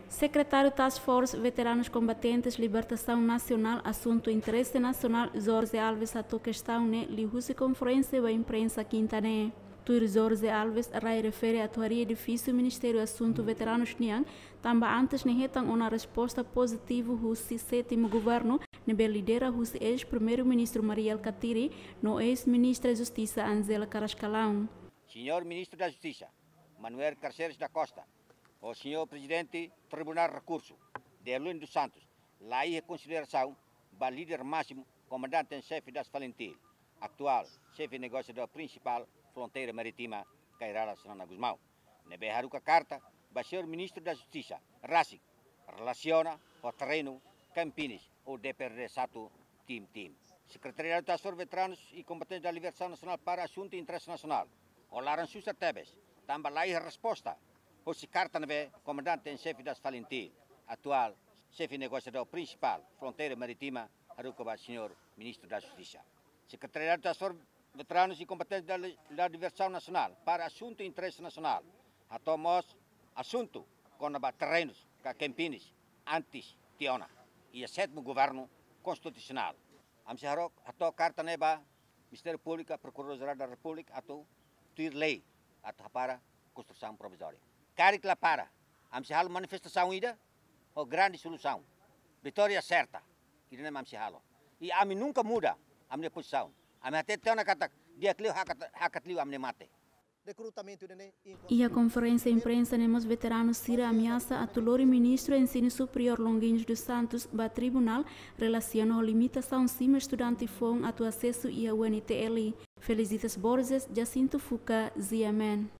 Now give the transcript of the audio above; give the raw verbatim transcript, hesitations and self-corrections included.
Sekretáriu Task Force Veteranus Kombatentes Libertasaun Nasionál Asuntu Interese Nasionál, Jorge Alves, hato'o kestaun ne'e liuhusi konferénsia ba imprensa kinta ne'e. Tuir Jorge Alves, rai refere atu harii edifísiu Ministériu Asuntu Veteranus nian, tanba antes ne'e hetan ona resposta pozitivu husi sétimu governu, ne'ebé lidera husi eis-Primeiru-Ministru Mari Alkatiri no eis-Ministra Justisa Angela Carrascalão. Señór Ministru da Justisa, Manuel Carceres da Costa, ho Señór Prezidente Tribunál Rekursu, Deolin dos Santos, la iha konsiderasaun ba líder másimu, Komandante en Xefe das FALINTIL, atuál Xefe Negosiadór Prinsipál Fronteira Marítima, Kay Rala Xanana Gusmão, ne'ebé haruka karta ba Señór Ministru da Justisa rasik, relasiona ho terrenu Campinas ou D P R D satu Tim Tim. Sekretariadu Task Force Veteranus i Kombatentes da Libertasaun Nasionál para Asuntu Interese Nasionál, ho laran susar tebes, tanba la iha resposta hosi karta ne'ebé Komandante en Xefe das FALINTIL, atuál Xefe Negosiadór Prinsipál Fronteira Marítima, haruka ba Señór Ministru da Justisa. Sekretariadu Task Force Veteranus i Kombatentes da, da Libertasaun Nasionál para Asuntu Interese Nasionál hato'o mós asuntu kona-ba terrenus ka Campinas antes tiha ona iha sétimu governu konstitusionál. Ami sei harook hato'o karta ne'e ba Ministériu Públiku, Prokuradór Jerál da Repúblika, atu tuir lei atu hapara konstrusaun provizória. Karik la para, ami sei halo manifestasaun ida ho grande solusaun. Vitória serta. Ida-ne'e mak ami sei halo. I ami nunka muda ami-nia pozisaun. Ami hatete tiha ona katak di'ak liu hakat, hakat liu ami-nia mate. Rekrutamentu ida-ne'e iha konferénsia imprensa ne'e mós veteranu sira ameasa atu lori Ministru Ensinu Superiór Longuinhos dos Santos ba tribunál relasiona ho limitasaun simu estudante foun atu asesu iha U N T L. Felicitas Borges, Jacinto Fuca, G M N.